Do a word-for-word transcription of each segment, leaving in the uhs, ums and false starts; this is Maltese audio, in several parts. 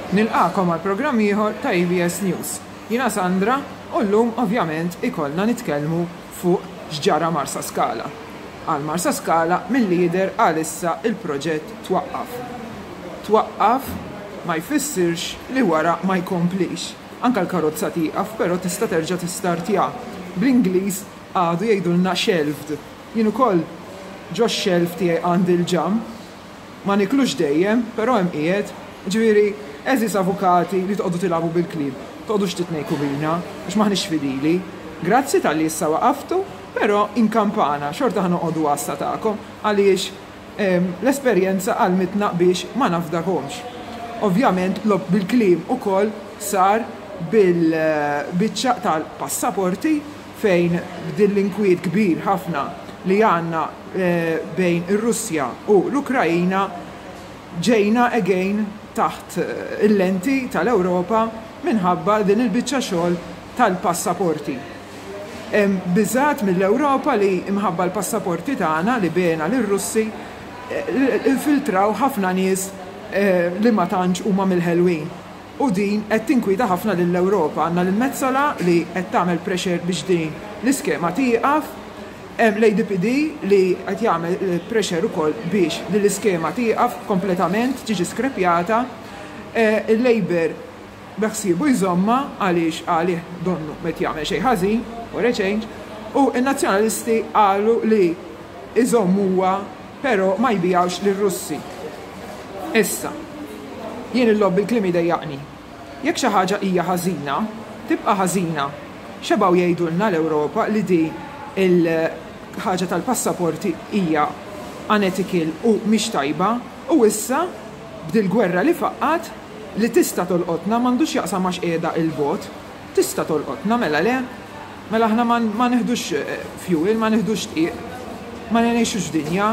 Nilqagħkom għal programm ieħor ta' A B S News. Jiena Sandra u llum ovvjament ikollna nitkellmu fuq x'ġara Marsa Skala. Għal Marsa Skala mill-lider għalissa il-proġett twaqqaf. Twaqqaf ma jfissirx li wara ma jkomplix. Anka l-karozza tieqaf, però tista' terġa' tistartja. Bl-Ingliż għadu jgħidulna shelved. Jien ukoll ġo shelf tiegħi għandi l-ġam, ma niklux dejjem, però hemm qiegħed. Ġifieri, għeżież avukati li toqgħodu tilagħbu bil-kliem, toqgħodux titnejku bina, għax maħniex fidili. Grazzi talli issa waqaftu, però inkampana, xorta ħa noqogħdu għassa tagħkom għaliex l-esperjenza għallmitna biex ma nafdakomx. Ovvjament, logħob bil-kliem ukoll sar bil-biċċa tal-passaporti, fejn b'din l-inkwiet kbir ħafna li għandna eh, bejn ir-Russja u l-Ukrajina, ġejna again taħt eh, il-lenti tal-Ewropa minħabba din il-biċċa xogħol tal-passaporti. Biżgħat mill-Ewropa li imħabba l-passaporti tagħna li bena lir-Russi eh, infiltraw ħafna nies eh, li ma tantx huma mill-ħelwin. U din qed tinkwita ħafna lill-Ewropa. Għandna l-Metsola li qed tagħmel pressure biex din l-iskema tieqaf. Hemm l-A D P D li qed jagħmel eh, pressure ukoll biex li l-iskema tieqaf kompletament, tiġi skrepjata. Eh, Il-Labour beħsiebu jżomma għaliex għalih donnu met jagħmel xejn ħażin, for a change, u n-nazzjonalisti qalu li iżommuha, però ma jbijawx lir-Russi. Issa, jien il-logħob bil-kliem idejjaqni. Jekk xi ħaġa hija ħażina, tibqa' ħażina. Xebgħu jgħidulna l-Ewropa li di il-ħaġa tal-passaporti hija unethical u mhix tajba, u issa b'dil-gwerra li faqqat li tista' tolqotna, m'għandux jaqsam għax qiegħda il-bogħod, tista' tolqotna, mela le, mela aħna ma neħdux eh, fuel, ma neħdux dqiq, ma ngħixux dinja.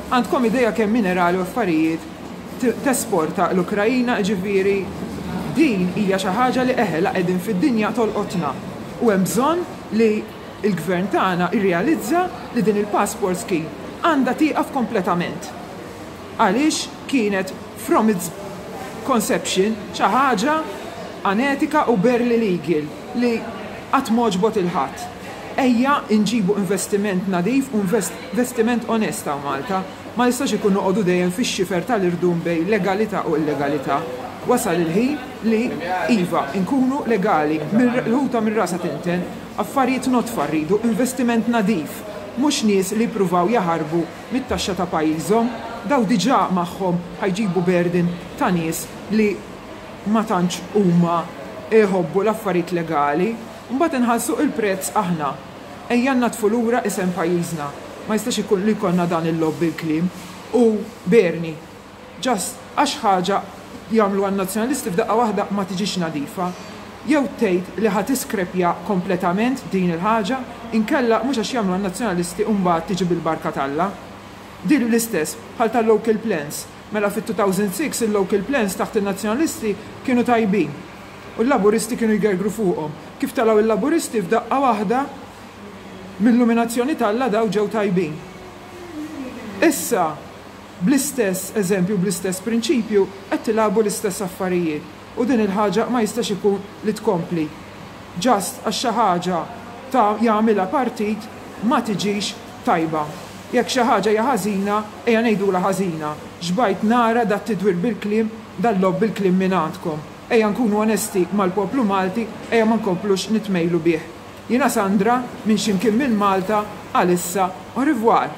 Għandkom idea kemm minerali u affarijiet tesporta l-Ukrajina? Ġifieri din hija xi ħaġa li eħela qegħdin fid-dinja tolqotna. U hemm bżonn li il-gvern tagħna irrealizza li din il-passport scheme għandha tieqaf kompletament. Għaliex kienet from its conception xi ħaġa anetika u barely legal li qatt m'għoġbot lil ħadd. Ejja nġibu investiment nadif u investiment onest ta' Malta. Ma jistax ikun noqogħdu dejjem fix-xifer tal-irdum bejn legalità u illegalità. Wasal il-ħin li iva nkunu legali, l-ħuta minn rasa tinten, affarijiet nodfa rridu, investiment nadif, mhux nies li jippruvaw jaħarbu mit-taxxa ta' pajjiżhom, daw diġà magħhom ħa jġibu burden ta' nies li ma tantx huma iħobbu l-affarijiet legali, mbagħad inħallsu il-prezz aħna. Ejja natfu lura isem pajjiżna. Ma jistax ikun li jkollna dan il-logħob bil-kliem u Bernie. Just għax ħaġa jagħmlu għan-nazzjonalisti, f'daqqa waħda ma tiġix nadifa. Jew tgħid li ħa tiskrepja kompletament din il-ħaġa, inkella mhux għax jagħmlu għan-nazzjonalisti u mbagħad tiġi bil-barka t'Alla. Din l-istess bħal tal-local plans. Mela fit-elfejn u sitta il-local plans taħt il-nazzjonalisti kienu tajbin. U l-laburisti kienu jgergru fuqhom. Kif telgħu il-laburisti, f'daqqa waħda mill-illuminazzjoni t'Alla daw ġew tajbin. Issa, bl-istess eżempju, bl-istess prinċipju, qed tilagħbu l-istess affarijiet. U din il-ħaġa ma jistax ikun li tkompli. Just għax xi ħaġa ta' jagħmilha partit ma tiġix tajba. Jekk xi ħaġa hija ħażina, ejja ngħidula ħażina. Xbajt nara dat tidwir bil-kliem, dal-logħob bil-kliem minn għandkom. Ejja nkunu onesti mal-poplu Malti, ejja ma nkomplux nitmejlu bih. Jiena Sandra, minn ximkien minn Malta, għalissa, au revoir.